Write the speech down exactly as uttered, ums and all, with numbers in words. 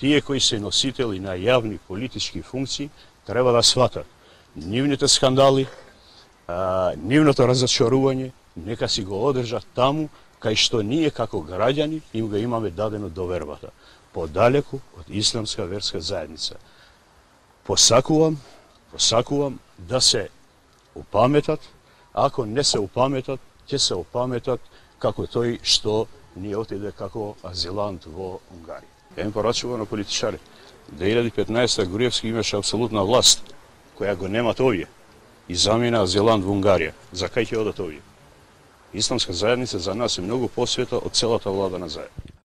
тие кои се носители на јавни политички функции треба да сватат нивните скандали, а, нивното разочарување, нека си го одржат таму кај што ние како граѓани им го имаме дадено довербата, подалеку од исламска верска заедница. Посакувам, посакувам да се упаметат, ако не се упаметат, ќе се упаметат како тој што ние отиде како азилант во Унгарија. Еден порачува на политичари. две илјади и петнаесета Груевски имаше апсолутна власт, која го немат овие, и замина азилант во Унгарија. За кај ќе одат овие? Исламска заедница за нас е многу посвета од целата влада на заедница.